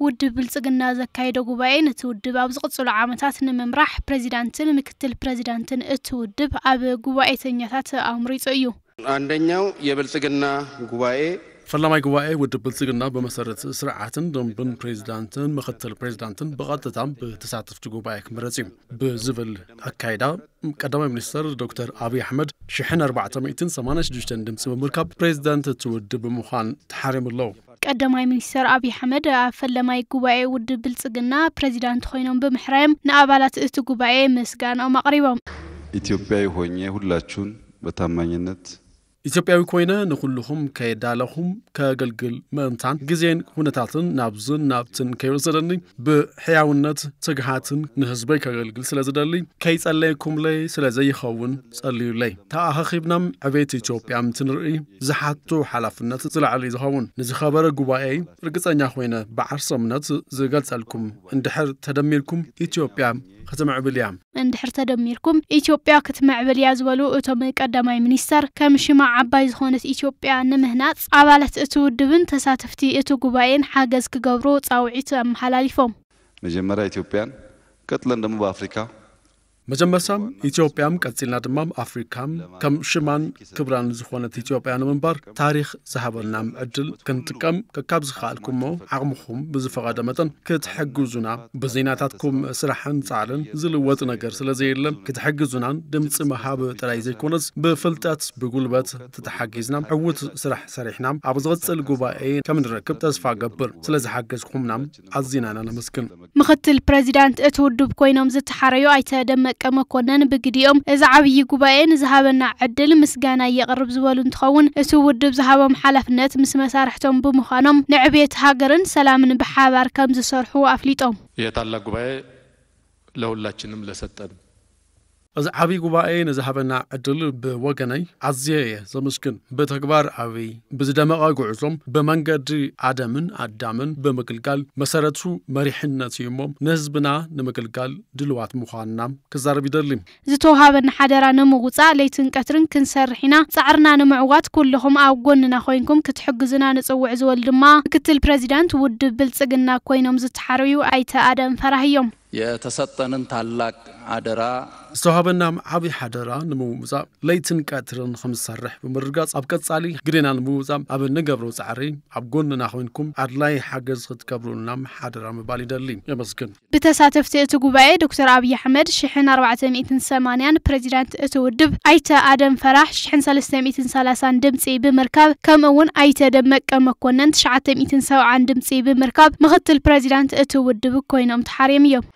ውድብ ብልጽግና ዘካየዶ ጉባኤ ነቲ ውድብ ኣብ ዝቕጽሉ ዓመታት ንምምራሕ ፕሬዚዳንትን ምክትል ፕሬዚዳንትን እቲ ውድብ ኣብ ጉባኤተኛታት ኣምሪጹ እዩ። አንደኛው የብልጽግና ጉባኤ ፈላማይ ጉባኤ ውድብ ብልጽግና ብመሰረት ስርዓትን ደንብን ፕሬዚዳንትን ምክትል ፕሬዚዳንትን ብቐጥታ ብተሳተፍቲ ጉባኤ ክምረጽ እዩ ብዝብል ኣካይዳ ቀዳማይ ሚኒስተር ዶክተር ኣብይ ኣሕመድ ሽሕን ኣርባዕተ ሚእትን ሰማንያን ሽዱሽተን ድምፂ ብምርካብ ፕሬዚዳንት እቲ ውድብ ብምዃን ተሓሪሙ ኣሎ። ቀዳማይ ሚኒስተር ኣብይ ኣሕመድ ኣብ ፈለማይ ጉባኤ ውድብ ብልጽግና ፕሬዚዳንት ኮይኖም ብምሕራዮም ንኣባላት እቲ ጉባኤ ምስጋናኦም ኣቕሪቦም። ኢትዮጵያዊ ሆኜ ሁላችሁን በታማኝነት ኢትዮጵያዊ ኮይነ ንኹልኹም ከየዳለኹም ከገልግል ምእንታን ግዜን ኩነታትን ናብዝን ናብትን ከይወሰደኒ ብሕያውነት ትግሃትን ንህዝበይ ከገልግል ስለ ዝደሊ ከይጸለየኩምለይ ስለ ዘይኸውን ጸልዩለይ። ተኣኻኺብናም ዕቤት ኢትዮጵያ እንትንርኢ ዝሓቱ ሓላፍነት ዝለዓለ እዩ ዝኸውን። ንዝኸበረ ጉባኤ ርግጸኛ ኮይነ ብዓርሰ እምነት ዝገልጸልኩም እንድሕር ተደሚርኩም ኢትዮጵያ ክትምዕብል እያ። እንድሕር ተደሚርኩም ኢትዮጵያ ክትምዕብል እያ ዝበሉ እቶም ቀዳማይ ሚኒስተር፣ ከም ሽማ ዓባይ ዝኾነት ኢትዮጵያ ንምህናጽ ኣባላት እቲ ውድብን ተሳተፍቲ እቲ ጉባኤን ሓገዝ ክገብሩ ጻውዒት ኣመሓላሊፎም። መጀመሪያ ኢትዮጵያን ቀጥለን ደግሞ በአፍሪካ መጀመርታ ኢትዮጵያም ቀጺልና ድማ ኣፍሪካም ከም ሽማን ክብራን ዝኾነት ኢትዮጵያ ንምንባር ታሪኽ ዝሃበና ዕድል ክንጥቀም ከካብ ዝኸኣልኩሞ ዓቕምኹም ብዝፈቐደ መጠን ክትሕግዙና ብዜናታትኩም ስራሕን ጻዕርን ዝልወጥ ነገር ስለ ዘየለን ክትሕግዙናን ድምፂ ምሃብ ጥራይ ዘይኮነስ ብፍልጠት ብጉልበት ተተሓጊዝና ዕዉት ስራሕ ሰሪሕና ኣብ ዝቕፅል ጉባኤ ከም ንረክብ ተስፋ ገብር። ስለ ዝሓገዝኩምና ኣዚና ኢና ነመስግን። ምኽትል ፕሬዚዳንት እቲ ውድብ ኮይኖም ዝተሓረዩ ኣይተ ደመቀ መኮነን ብግዲኦም እዚ ዓብዪ ጉባኤ ንዝሃበና ዕድል ምስጋና የቕርብ ዝበሉ እንትኸውን እቲ ውድብ ዝሃቦም ሓላፍነት ምስ መሳርሕቶም ብምዃኖም ንዕብየት ሃገርን ሰላምን ብሓባር ከም ዝሰርሑ ኣፍሊጦም። ይህ ታላቅ ጉባኤ ለሁላችንም ለሰጠን እዚ ዓብዪ ጉባኤ ንዝሃበና ዕድል ብወገነይ ኣዝየ እየ ዘመስግን። ብተግባር ኣብይ ብዝደመቐ ጉዕዞም ብመንገዲ ኣደምን ኣዳምን ብምግልጋል መሰረቱ መሪሕነት እዩ እሞ ንህዝብና ንምግልጋል ድልዋት ምዃንና ክዛረብ ይደሊ። ዝተውሃበና ሓደራ ንምውፃእ ለይትን ቀትርን ክንሰርሕ ኢና። ፃዕርና ንምዕዋት ኩልኹም ኣብ ጎንና ኮይንኩም ክትሕግዙና ንፅውዕ ዝበሉ ድማ ምክትል ፕሬዚዳንት ውድብ ብልፅግና ኮይኖም ዝተሓረዩ ኣይተ ኣደም ፈራህ እዮም። የተሰጠንን ታላቅ አደራ ዝተዋህበና ዓብዪ ሓደራ ንምውፃእ ለይትን ቀትርን ከምዝሰርሕ ብምርጋፅ ኣብ ቀፃሊ ግዴና ንምውፃእ ኣብ እንገብሮ ፃዕሪ ኣብ ጎንና ኮይንኩም ኣድላይ ሓገዝ ክትገብሩልና ሓደራ ምባል ይደሊ። የመስግን። ብተሳተፍቲ እቲ ጉባኤ ዶክተር ኣብይ ኣሕመድ ሽሕን ኣርባዕተ ሚእትን ሰማንያን ፕሬዚዳንት እቲ ውድብ ኣይተ ኣደም ፈራህ ሽሕን ሰለስተ ሚእትን ሰላሳን ድምፂ ብምርካብ ከምኡ እውን ኣይተ ደመቀ መኮነን ትሽዓተ ሚእትን ሰብዓን ድምፂ ብምርካብ ምክትል ፕሬዚዳንት እቲ ውድብ ኮይኖም ተሓርዮም እዮም።